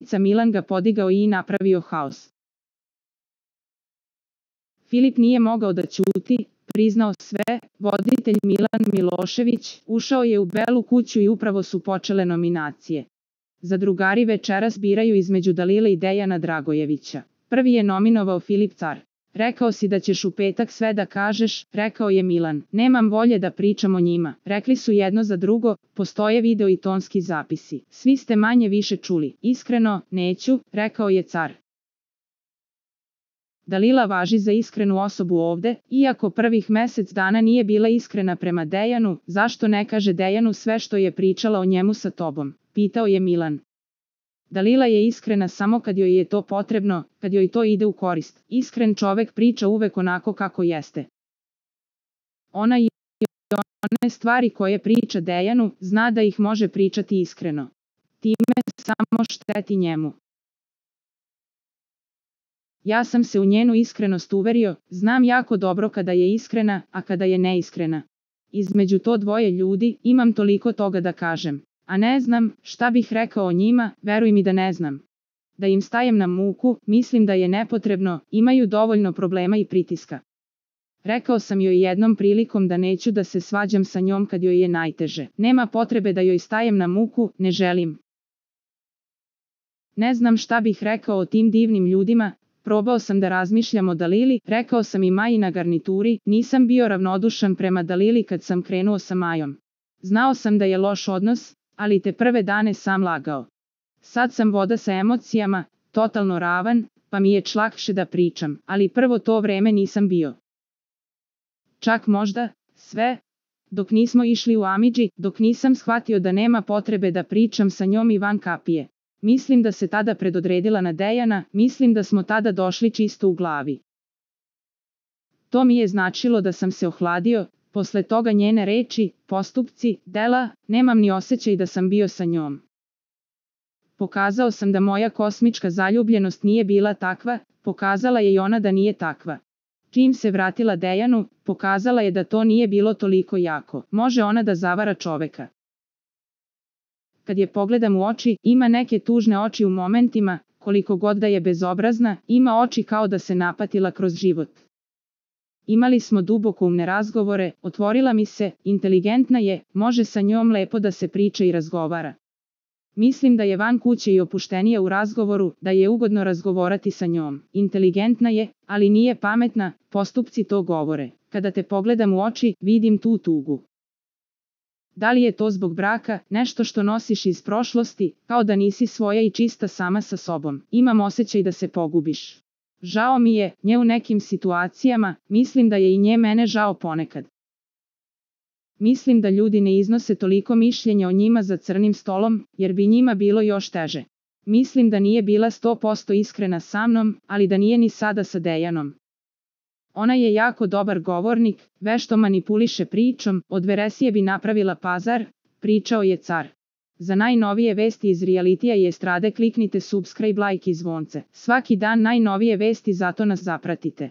ubica Milan ga podigao i napravio haos. Filip nije mogao da ćuti, priznao sve, voditelj Milan Milošević ušao je u Belu kuću i upravo su počele nominacije. Zadrugari večeras biraju između Dalile i Dejana Dragojevića. Prvi je nominovao Filip Car. Rekao si da ćeš u petak sve da kažeš, rekao je Milan. Nemam volje da pričam o njima. Rekli su jedno za drugo, postoje video i tonski zapisi. Svi ste manje više čuli. Iskreno, neću, rekao je Car. Dalila važi za iskrenu osobu ovde, iako prvih mesec dana nije bila iskrena prema Dejanu, zašto ne kaže Dejanu sve što je pričala o njemu sa tobom, pitao je Milan. Dalila je iskrena samo kad joj je to potrebno, kad joj to ide u korist. Iskren čovek priča uvek onako kako jeste. Ona i one stvari koje priča Dejanu, zna da ih može pričati iskreno. Time samo šteti njemu. Ja sam se u njenu iskrenost uverio, znam jako dobro kada je iskrena, a kada je neiskrena. Između to dvoje ljudi imam toliko toga da kažem. A ne znam, šta bih rekao o njima, veruj mi da ne znam. Da im stajem na muku, mislim da je nepotrebno, imaju dovoljno problema i pritiska. Rekao sam joj jednom prilikom da neću da se svađam sa njom kad joj je najteže. Nema potrebe da joj stajem na muku, ne želim. Ne znam šta bih rekao o tim divnim ljudima, probao sam da razmišljam o Dalili, rekao sam i Maji na garnituri, nisam bio ravnodušan prema Dalili kad sam krenuo sa Majom. Znao sam da je loš odnos, ali te prve dane sam lagao. Sad sam voda sa emocijama, totalno ravan, pa mi je lakše da pričam, ali prvo to vreme nisam bio. Čak možda, sve, dok nismo išli u Amidži, dok nisam shvatio da nema potrebe da pričam sa njom i van kapije. Mislim da se tada predodredila na Dejana, mislim da smo tada došli čisto u glavi. To mi je značilo da sam se ohladio, posle toga njene reči, postupci, dela, nemam ni osjećaj da sam bio sa njom. Pokazao sam da moja kosmička zaljubljenost nije bila takva, pokazala je i ona da nije takva. Čim se vratila Dejanu, pokazala je da to nije bilo toliko jako. Može ona da zavara čoveka. Kad je pogledam u oči, ima neke tužne oči u momentima, koliko god da je bezobrazna, ima oči kao da se napatila kroz život. Imali smo dubokoumne razgovore, otvorila mi se, inteligentna je, može sa njom lepo da se priča i razgovara. Mislim da je van kuće i opuštenija u razgovoru, da je ugodno razgovarati sa njom. Inteligentna je, ali nije pametna, postupci to govore. Kada te pogledam u oči, vidim tu tugu. Da li je to zbog braka, nešto što nosiš iz prošlosti, kao da nisi svoja i čista sama sa sobom? Imam osjećaj da se pogubiš. Žao mi je, nje u nekim situacijama, mislim da je i nje mene žao ponekad. Mislim da ljudi ne iznose toliko mišljenja o njima za crnim stolom, jer bi njima bilo još teže. Mislim da nije bila 100% iskrena sa mnom, ali da nije ni sada sa Dejanom. Ona je jako dobar govornik, vešto manipuliše pričom, od veresije bi napravila pazar, pričao je Car. Za najnovije vesti iz realitija i estrade kliknite subscribe, like i zvonce. Svaki dan najnovije vesti, zato nas zapratite.